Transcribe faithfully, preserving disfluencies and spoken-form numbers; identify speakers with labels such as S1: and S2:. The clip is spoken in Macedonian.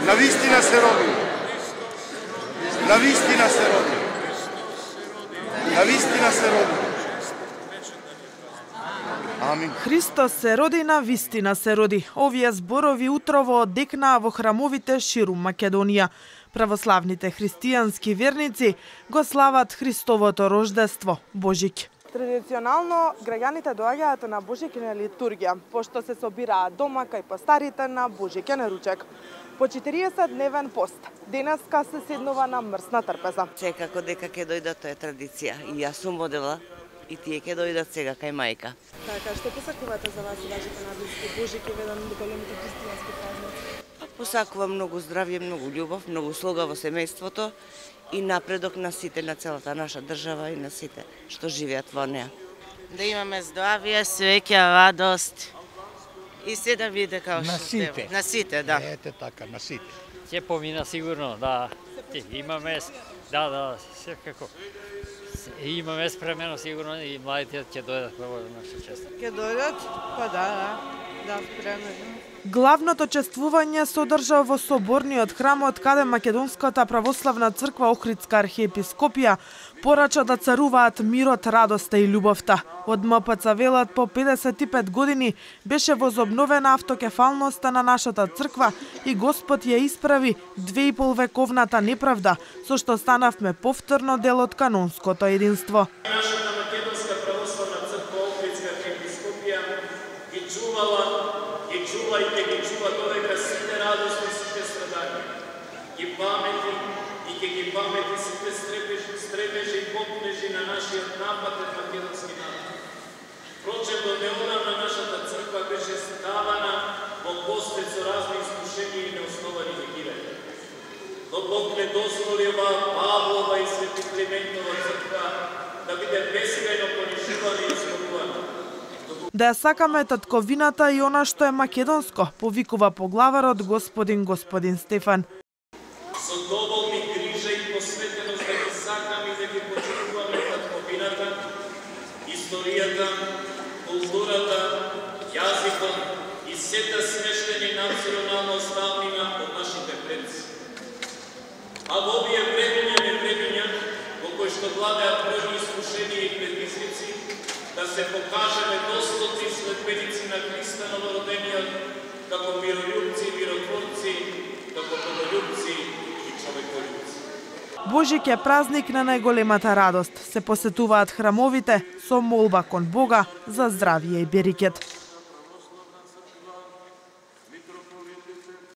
S1: Навистина се роди. Навистина се роди. Навистина се роди. Амин.
S2: Христос се роди, на вистина се роди. Овие зборови утрово одекнаа во храмовите ширум Македонија. Православните христијански верници го слават Христовото рождество, Божик.
S3: Традиционално, граѓаните доаѓаат на Божикина литургија, пошто се собираат дома кај постарите на Божикен ручек. По четириесет дневен пост, денеска се седнува на мрсна трпеза.
S4: Секако дека ќе дојдат, тоа е традиција. И јас сум одела, и тие ќе дојдат сега кај мајка.
S3: Така, што посакувате за вас и вашите наблиски? Божик е еден од големите христијански празници.
S4: Посакувам многу здравје, многу љубов, многу слога во семејството и напредок на сите, на целата наша држава и на сите што живеат во неа.
S5: Да имаме здравје, среќа, радост и се да биде како што
S6: на сите.
S5: На сите, да.
S6: Ете така, на сите.
S7: Ќе помина сигурно, да. Имаме, да, да, секако. Имаме спремено сигурно и младите ќе дојдат во нашата чест.
S5: Ќе дојдат? Па да, да, да, спремено.
S2: Главното чествување се одржа во соборниот храмот, каде Македонската православна црква Охридска архиепископија порача да царуваат мирот, радоста и љубовта. Од М П Ц велат по педесет и пет години беше возобновена автокефалноста на нашата црква и Господ ја исправи две и пол вековната неправда, со што станавме повторно дел од канонското единство.
S8: Нашата Македонска православна црква Охридска архиепископија ги чувала, ги чува и ќе ги чува додека сите радости, сите страдања. Ги памети и ќе ги памети сите стребежи, стребежи и поплежи на нашиот напатен македонски народ. Впрочем, до неодамна нашата црква беше ставана во постет со разни искушенија и неосновани вегирања. Но Бог не дозволи оваа Павлова и Свети Климентова црква да биде безкрајно понижувана и изгубувана.
S2: Да ја сакаме татковината и она што е македонско, повикува поглаварот господин господин Стефан.
S8: Со доволни грижа и посветеност да ги сакаме и да ги почитуваме татковината, историјата, културата, јазикот и сета смештени национална оставнина од нашите предци. А во овие времења не времења, во кои што владеат бројни искушенија и предизвици, да се покажеме достоци следбеници на Христа новородениот, како мирољубци и миротворци, како боголюбци и човеколюбци.
S2: Божик е празник на најголемата радост. Се посетуваат храмовите со молба кон Бога за здравје и берекет.